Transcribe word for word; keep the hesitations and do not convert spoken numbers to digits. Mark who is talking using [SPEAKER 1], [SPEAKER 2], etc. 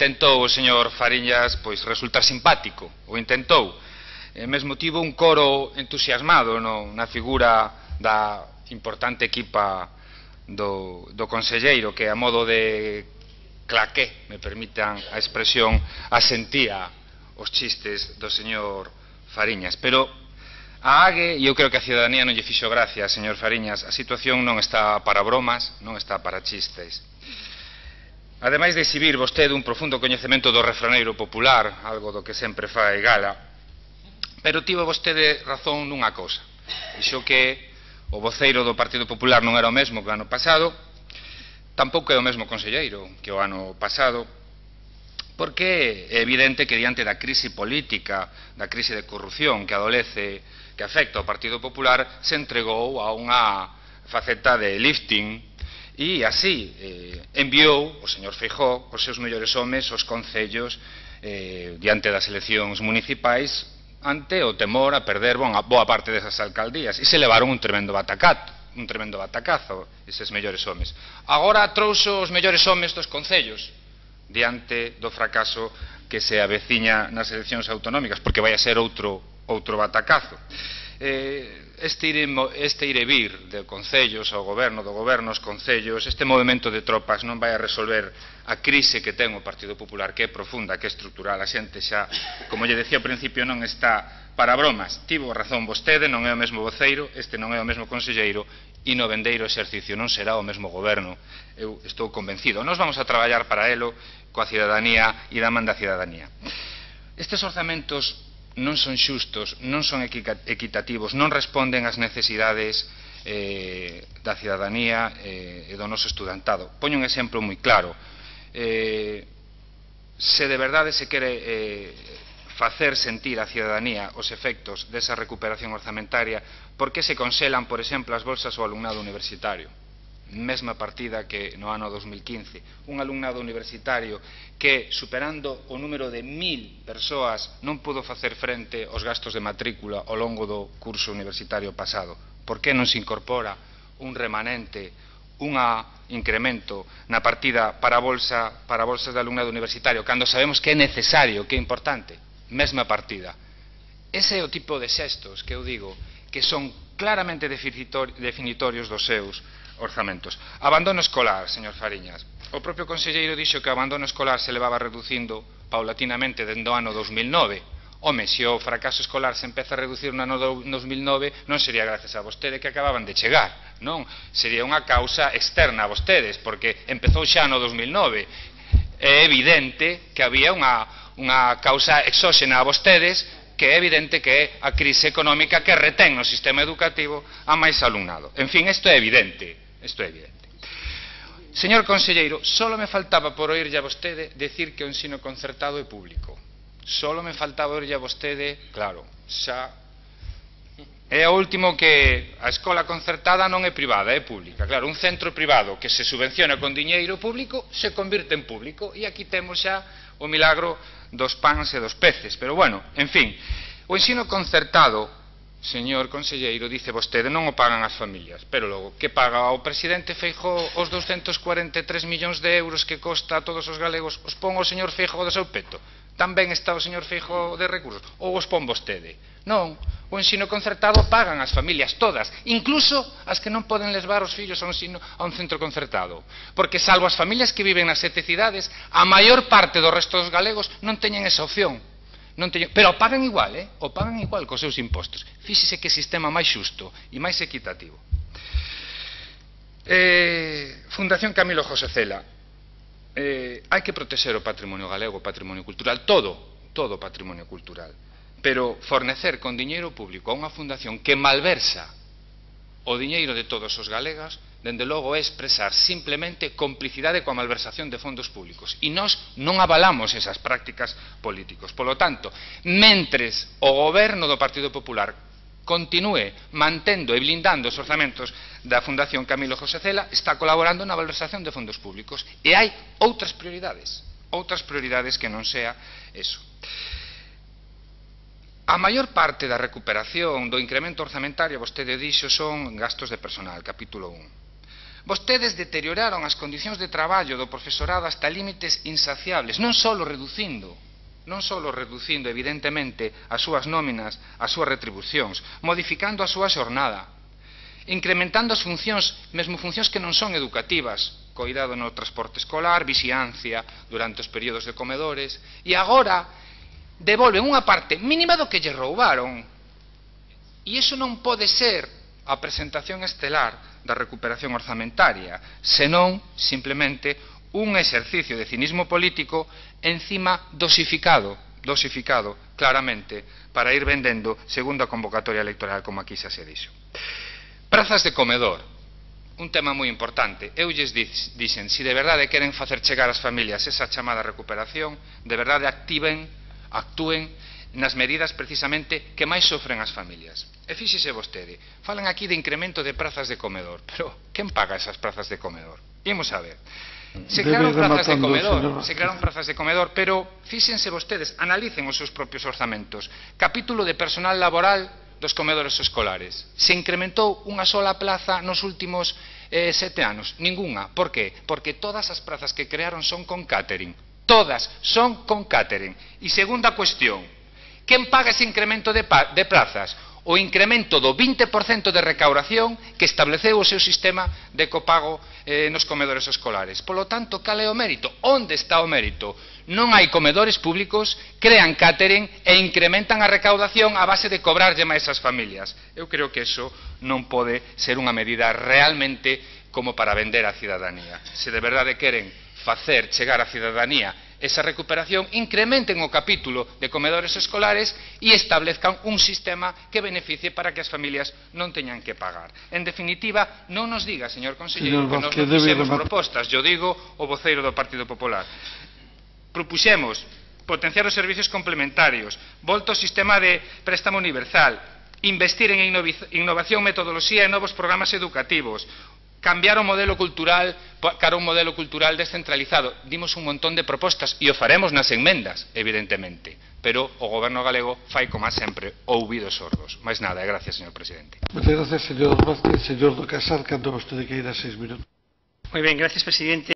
[SPEAKER 1] intentou o señor Fariñas pois resultar simpático, o intentou. E mesmo tivo un coro entusiasmado no, na figura da importante equipa do, do conselleiro que a modo de claqué, me permitan a expresión, asentía os chistes do señor Fariñas. Pero a AGE, e eu creo que a ciudadanía non lle fixo gracia, señor Fariñas, a situación non está para bromas, non está para chistes. Ademais de exhibir vostede un profundo coñecemento do refraneiro popular, algo do que sempre fai gala, pero tivo vostede razón nunha cousa. Dixo que o voceiro do Partido Popular non era o mesmo que o ano pasado, tampouco é o mesmo conselleiro que o ano pasado, porque é evidente que diante da crise política, da crise de corrupción que adolece, que afecta ao Partido Popular, se entregou a unha faceta de lifting e así eh, enviou o señor Feijóo os seus mellores homes aos concellos eh, diante das eleccións municipais ante o temor a perder boa, boa parte desas alcaldías e se levaron un tremendo batacato, un tremendo batacazo eses mellores homes. Agora trouxo os mellores homes dos concellos diante do fracaso que se aveciña nas eleccións autonómicas, porque vai a ser outro, outro batacazo. Eh, este, ir, este ir e vir de concellos ao goberno, do goberno aos concellos, este movimento de tropas non vai a resolver a crise que ten o Partido Popular, que é profunda, que é estrutural. A xente xa, como lle decía ao principio, non está para bromas. Tivo razón vostede, non é o mesmo voceiro, este non é o mesmo conselleiro, e no vendeiro exercicio non será o mesmo goberno. Eu estou convencido. Nós vamos a traballar para elo coa cidadanía e da man da cidadanía. Estes orzamentos non son xustos, non son equitativos, non responden ás necesidades eh, da cidadanía eh, e do noso estudantado. Poño un exemplo moi claro. Eh, se de verdade se quere eh, facer sentir a cidadanía os efectos desa recuperación orzamentaria, por que se conselan, por exemplo, as bolsas ao alumnado universitario? Mesma partida que no ano dos mil quince, un alumnado universitario que, superando o número de mil persoas, non pudo facer frente aos gastos de matrícula ao longo do curso universitario pasado. Por que non se incorpora un remanente, un incremento na partida para, bolsa, para bolsas de alumnado universitario, cando sabemos que é necesario, que é importante? Mesma partida. Ese é o tipo de xestos que eu digo que son claramente definitorios dos seus orzamentos. Abandono escolar, señor Fariñas. O propio conselleiro dixo que o abandono escolar se levaba reducindo paulatinamente dende o ano dos mil nove. Home, se o fracaso escolar se empeza a reducir no ano dos mil nove, non sería gracias a vostede que acababan de chegar, non? Sería unha causa externa a vostedes, porque empezou xa no dos mil nove. É evidente que había unha, unha causa exóxena a vostedes, que é evidente que é a crise económica que retén no sistema educativo a máis alumnado. En fin, isto é evidente. Isto é evidente. Señor conselleiro, solo me faltaba por oírlle a vostede decir que o ensino concertado é público. Solo me faltaba oírlle a vostede, claro, xa é o último que a escola concertada non é privada, é pública. Claro, un centro privado que se subvenciona con diñeiro público se convirte en público e aquí temos xa o milagro dos pans e dos peces. Pero bueno, en fin, o ensino concertado, señor conselleiro, dice vostede, non o pagan as familias, pero logo, que paga o presidente Feijóo os douscentos cuarenta e tres millóns de euros que costa a todos os galegos, os pon o señor Feijóo do seu peto? Tamén está o señor Feijóo de recursos? Ou os pon vostede? Non, o ensino concertado pagan as familias todas, incluso as que non poden levar os fillos a un, ensino, a un centro concertado, porque salvo as familias que viven nas sete cidades, a maior parte do resto dos galegos non teñen esa opción. Non teño, pero o pagan igual, eh? O pagan igual cos seus impostos. Fíxese que sistema máis xusto e máis equitativo. Eh, Fundación Camilo José Cela. Eh, hai que protexer o patrimonio galego, o patrimonio cultural, todo, todo o patrimonio cultural. Pero fornecer con diñeiro público a unha fundación que malversa o diñeiro de todos os galegas, dende logo é expresar simplemente complicidade coa malversación de fondos públicos. E nós non avalamos esas prácticas políticos. Polo tanto, mentres o goberno do Partido Popular continúe mantendo e blindando os orzamentos da Fundación Camilo José Cela, está colaborando na malversación de fondos públicos. E hai outras prioridades, outras prioridades que non sea eso. A maior parte da recuperación do incremento orzamentario, vostede dixo, son gastos de personal, capítulo un. Vostedes deterioraron as condicións de traballo do profesorado hasta límites insaciables, non só reducindo, non só reducindo, evidentemente, as súas nóminas, as súas retribucións, modificando a súa xornada, incrementando as funcións, mesmo funcións que non son educativas, coidado no transporte escolar, vixiancia durante os períodos de comedores, e agora devolven unha parte mínima do que lle roubaron. E iso non pode ser a presentación estelar da recuperación orzamentaria, senón, simplemente, un exercicio de cinismo político encima dosificado, dosificado, claramente, para ir vendendo segundo a convocatoria electoral, como aquí xa se dixo. Prazas de comedor, un tema moi importante. Eu lles dixen, se de verdade queren facer chegar ás familias esa chamada recuperación, de verdade activen, actúen nas medidas precisamente que máis sofren as familias. E fíxese vostede, falan aquí de incremento de prazas de comedor, pero quen paga esas prazas de comedor? Imos a ver. Se crearon prazas de comedor, se crearon prazas de comedor, pero fíxense vostedes, analicen os seus propios orzamentos. Capítulo de personal laboral dos comedores escolares. Se incrementou unha sola plaza nos últimos eh, sete anos? Ninguna. Por que? Porque todas as prazas que crearon son con catering. Todas son con catering. E segunda cuestión, quen paga ese incremento de, de plazas? O incremento do vinte por cento de recaudación que estableceu o seu sistema de copago eh, nos comedores escolares. Polo tanto, cal é o mérito? Onde está o mérito? Non hai comedores públicos, crean catering e incrementan a recaudación a base de cobrarlle máis ás familias. Eu creo que iso non pode ser unha medida realmente como para vender á cidadanía. Se de verdade queren facer chegar á cidadanía esa recuperación, incrementen o capítulo de comedores escolares e establezcan un sistema que beneficie para que as familias non teñan que pagar. En definitiva, non nos diga, señor conselleiro, que nos non fixemos propostas. Yo digo o voceiro do Partido Popular. Propuxemos potenciar os servicios complementarios, volta ao sistema de préstamo universal, investir en innovación, metodoloxía e novos programas educativos, cambiar o modelo cultural cara a un modelo cultural descentralizado. Dimos un montón de propostas e o faremos nas enmendas, evidentemente, pero o goberno galego fai, como sempre, ouvidos sordos. Mais nada, e gracias, señor presidente.
[SPEAKER 2] Muchas gracias, señor Vázquez. Señor do Casar, cando vostede queira seis minutos.
[SPEAKER 3] Moi ben, gracias, presidente.